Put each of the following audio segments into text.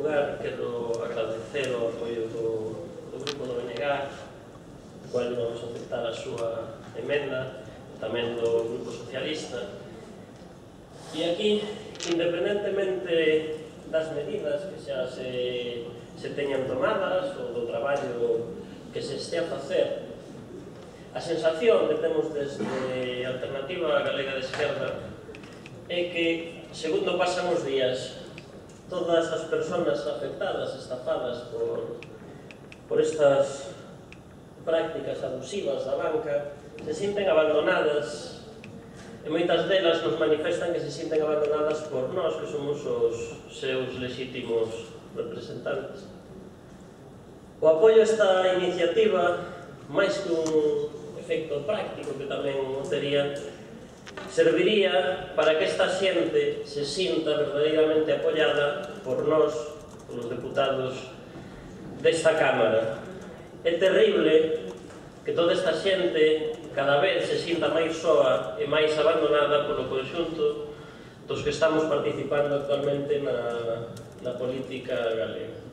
lugar, quero agradecer o apoio do grupo do BNG, o cual vamos a aceptar a súa emenda, tamén do Grupo Socialista. E aquí, independentemente das medidas que xa se teñan tomadas ou do traballo que se estea a facer, a sensación que temos desde Alternativa Galega de Esquerda é que, segundo pasan os días, todas as persoas afectadas, estafadas por estas prácticas abusivas da banca, se sinten abandonadas e moitas delas nos manifestan que se sinten abandonadas por nós, que somos os seus legítimos representantes. O apoio a esta iniciativa, máis que un efecto práctico que tamén o tería, serviría para que esta xente se sinta verdadeiramente apoiada por nós, polos deputados desta Cámara. É terrible que toda esta xente cada vez se sinta máis soa e máis abandonada polo conxunto dos que estamos participando actualmente na política galega.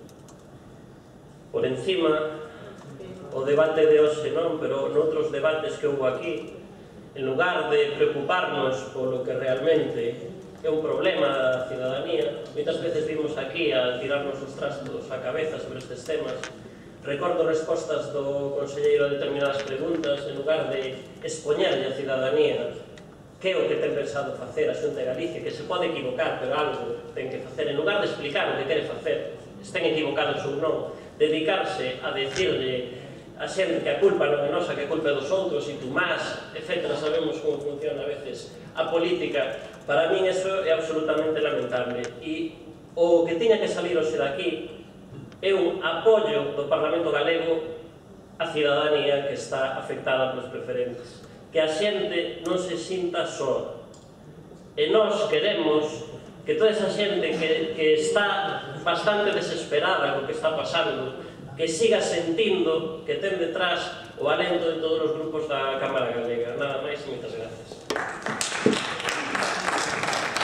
Por encima, o debate de hoxe non, pero noutros debates que houve aquí, en lugar de preocuparnos polo que realmente é un problema da cidadanía, moitas veces vimos aquí a tirarnos os trastos á cabeza sobre estes temas. Recordo respostas do conselleiro a determinadas preguntas, en lugar de expoñerlle a cidadanía que é o que ten pensado facer a Xunta de Galicia, que se pode equivocar, pero algo ten que facer, en lugar de explicar o que quere facer, estén equivocados ou non, dedicarse a decirle a xente que a culpa non é nosa, que a culpa é dos outros, e tú más, etc. Sabemos como funciona a veces a política. Para min eso é absolutamente lamentable. E o que tiña que salir hoxe daqui é un apoio do Parlamento Galego á cidadanía que está afectada polos preferentes. Que a xente non se sinta soa. E nós queremos que toda esa xente que está bastante desesperada co que está pasando, que siga sentindo que ten detrás o alento de todos os grupos da Cámara Galega. Nada máis e moitas gracias.